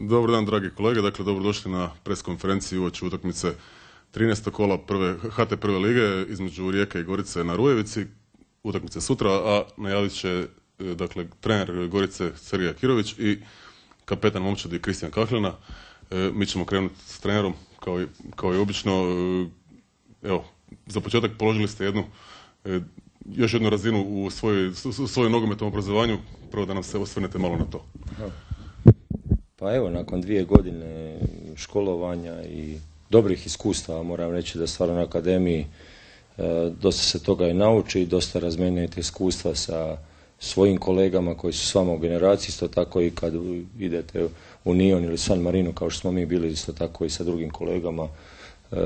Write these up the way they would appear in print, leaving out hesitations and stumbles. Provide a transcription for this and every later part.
Dobar dan, dragi kolege. Dakle, dobrodošli na pres konferenciju uoči utakmice 13. kola HT prve lige između Rijeke i Gorice na Rujevici. Utakmice sutra, a najavit će dakle, trener Gorice Sergej Akirović i kapetan momčadi Kristijan Kahlina. Mi ćemo krenuti s trenerom kao i obično. Evo, za početak položili ste još jednu razinu u svojoj nogometnom obrazovanju. Prvo da nam se osvrnete malo na to. Pa evo, nakon 2 godine školovanja i dobrih iskustava, moram reći da stvarno na akademiji dosta se toga i nauči i dosta razmenjujete iskustva sa svojim kolegama koji su s vama u generaciji, isto tako i kad idete u Nion ili San Marino, kao što smo mi bili, isto tako i sa drugim kolegama.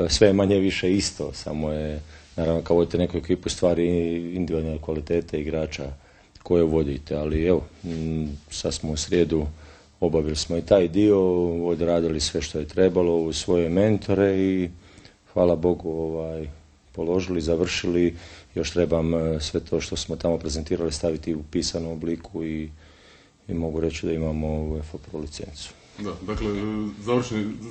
Sve je manje više isto, samo je, naravno, kao vodite neku ekipu, stvari individualne kvalitete igrača koje vodite, ali evo, sad smo u srijedu, obavili smo i taj dio, odradili sve što je trebalo u svoje mentore i hvala Bogu položili, završili. Još trebam sve to što smo tamo prezentirali staviti u pisanom obliku i mogu reći da imamo UEFA Pro licencu. Da, dakle,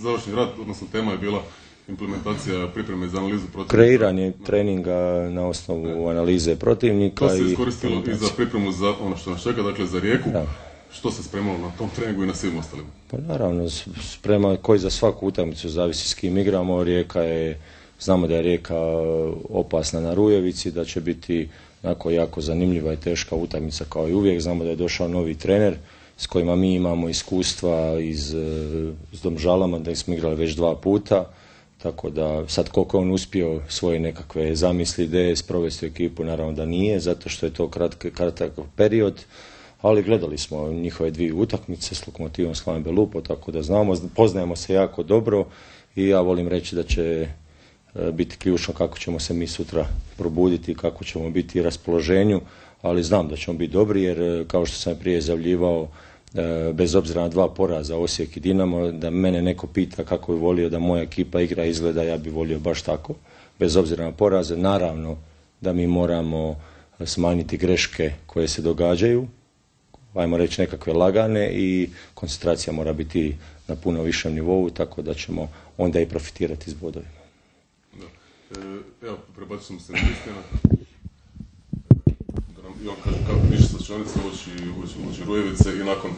završni rad, odnosno tema je bila implementacija pripreme za analizu protivnika. Kreiranje treninga na osnovu analize protivnika. To se iskoristilo i za pripremu za ono što nas čeka, dakle za Rijeku. Da. Što se spremalo na tom treningu i na svim ostalim? Pa naravno, sprema koji za svaku utakmicu, zavisi s kim igramo. Znamo da je Rijeka opasna na Rujevici, da će biti jako zanimljiva i teška utakmica kao i uvijek. Znamo da je došao novi trener s kojima mi imamo iskustva s Domžalama, da smo igrali već 2 puta. Tako da sad koliko on uspio svoje nekakve zamisli, ideje sprovesti u ekipu, naravno da nije, zato što je to kratak period. Ali gledali smo njihove 2 utakmice s Lokomotivom Slaven Belupo, tako da poznajemo se jako dobro i ja volim reći da će biti ključno kako ćemo se mi sutra probuditi, kako ćemo biti u raspoloženju, ali znam da ćemo biti dobri jer kao što sam prije izjavljivao, bez obzira na 2 poraza Osijek i Dinamo, da mene neko pita kako bi volio da moja ekipa igra izgleda, ja bi volio baš tako, bez obzira na poraze. Naravno da mi moramo smanjiti greške koje se događaju, ajmo reći nekakve lagane, i koncentracija mora biti na puno višem nivou, tako da ćemo onda i profitirati s bodovima. Da. Evo, prebacit ćemo se na Kristijana. Da nam Ivan kaže kako piše slačionice uoči Rujevice i nakon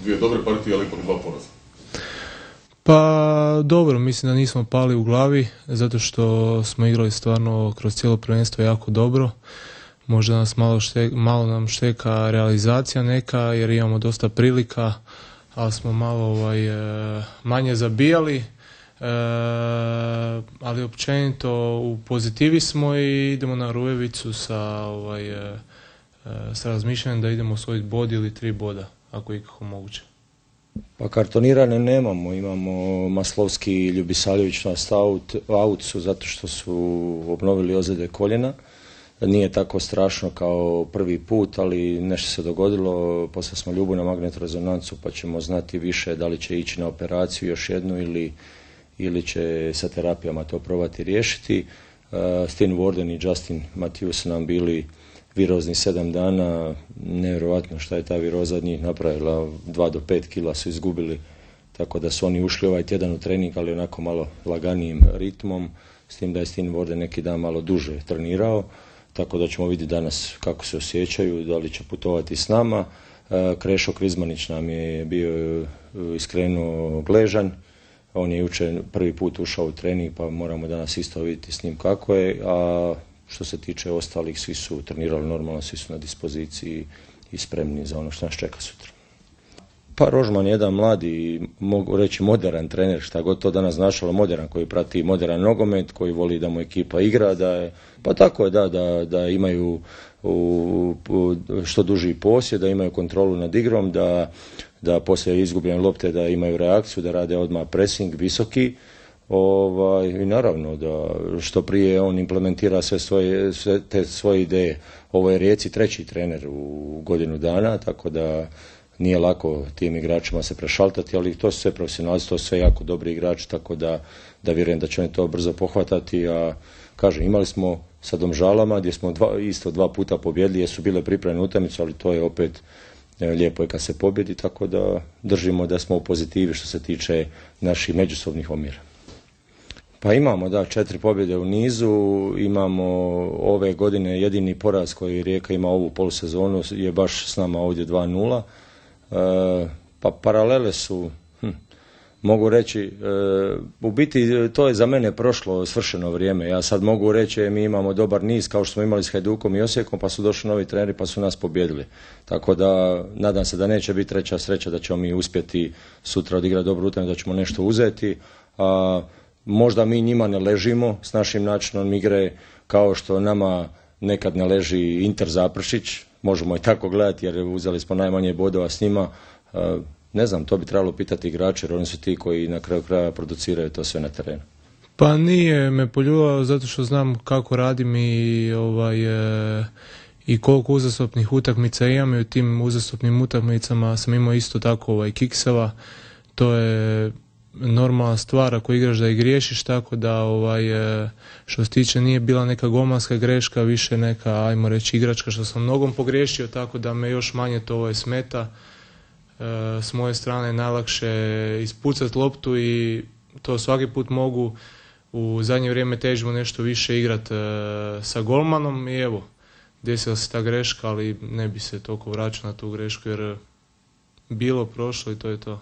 2 dobre partije, ali ipak 2 poraza. Pa dobro, mislim da nismo pali u glavi, zato što smo igrali stvarno kroz cijelo prvenstvo jako dobro. Možda nas malo nam šteka realizacija neka, jer imamo dosta prilika, ali smo malo manje zabijali, ali općenito u pozitivi smo i idemo na Rujevicu sa razmišljanjem da idemo osvojiti bod ili 3 boda, ako je ikako moguće. Pa kartonirane nemamo, imamo Maslovski i Ljubisaljević na out su zato što su obnovili ozljede koljena. Nije tako strašno kao prvi put, ali nešto se dogodilo, poslali smo Ljubu na magnetno-rezonancu pa ćemo znati više da li će ići na operaciju još jednu ili će sa terapijama to probati riješiti. Stijn Worden i Justin Matthews su nam bili virozni 7 dana, nevjerojatno šta je ta viroza od njih napravila, 2 do 5 kila su izgubili, tako da su oni ušli ovaj tjedan u trening, ali onako malo laganijim ritmom, s tim da je Stijn Worden neki dan malo duže trenirao. Tako da ćemo vidjeti danas kako se osjećaju, da li će putovati s nama. Krešo Krizmanić nam je bio iskreno gležan. On je jučer prvi put ušao u trening, pa moramo danas isto vidjeti s njim kako je. A što se tiče ostalih, svi su trenirali normalno, svi su na dispoziciji i spremni za ono što nas čeka sutra. Pa Rožman je jedan mladi, mogu reći moderan trener, šta god to danas značilo, moderan, koji prati modern nogomet, koji voli da mu ekipa igra, pa tako je da imaju što duži posjed, da imaju kontrolu nad igrom, da poslije izgubljene lopte da imaju reakciju, da rade odmah pressing visoki, i naravno da što prije on implementira sve te svoje ideje. Ovo je Rijeci 3. trener u godinu dana, tako da nije lako tim igračima se prešaltati, ali to su sve profesionalci, to su sve jako dobri igrači, tako da vjerujem da će oni to brzo pohvatati. A kažem, imali smo sa Domžalama gdje smo isto 2 puta pobjedili, jer su bile pripremne utakmice, ali to je opet lijepo je kad se pobjedi, tako da držimo da smo u pozitivi što se tiče naših međusobnih omjera. Pa imamo, da, 4 pobjede u nizu, imamo ove godine jedini poraz koji Rijeka ima ovu polusezonu je baš s nama ovdje 2-0. Pa paralele su, mogu reći, u biti to je za mene prošlo svršeno vrijeme. Ja sad mogu reći mi imamo dobar niz kao što smo imali s Hajdukom i Osijekom, pa su došli novi treneri pa su nas pobjedili. Tako da nadam se da neće biti treća sreća, da ćemo mi uspjeti sutra odigrati dobru utakmicu, da ćemo nešto uzeti. Možda mi njima ne ležimo s našim načinom igre kao što nama nekad ne leži Inter Zaprešić. Možemo i tako gledati jer uzeli smo najmanje bodova s njima. Ne znam, to bi trebalo pitati igrače jer oni su ti koji na kraju kraja produciraju to sve na terenu. Pa nije me poljubao zato što znam kako radim i koliko uzastopnih utakmica imam i u tim uzastopnim utakmicama sam imao isto tako kikseva. To je normalna stvar ako igraš da i griješiš, tako da što se tiče nije bila neka golmanska greška, više neka, ajmo reći, igračka što sam nogom pogriješio, tako da me još manje to smeta. S moje strane najlakše ispucati loptu i to svaki put mogu. U zadnje vrijeme težimo nešto više igrati sa golmanom i evo, desila se ta greška, ali ne bi se toliko vraćao na tu grešku jer bilo, prošlo i to je to.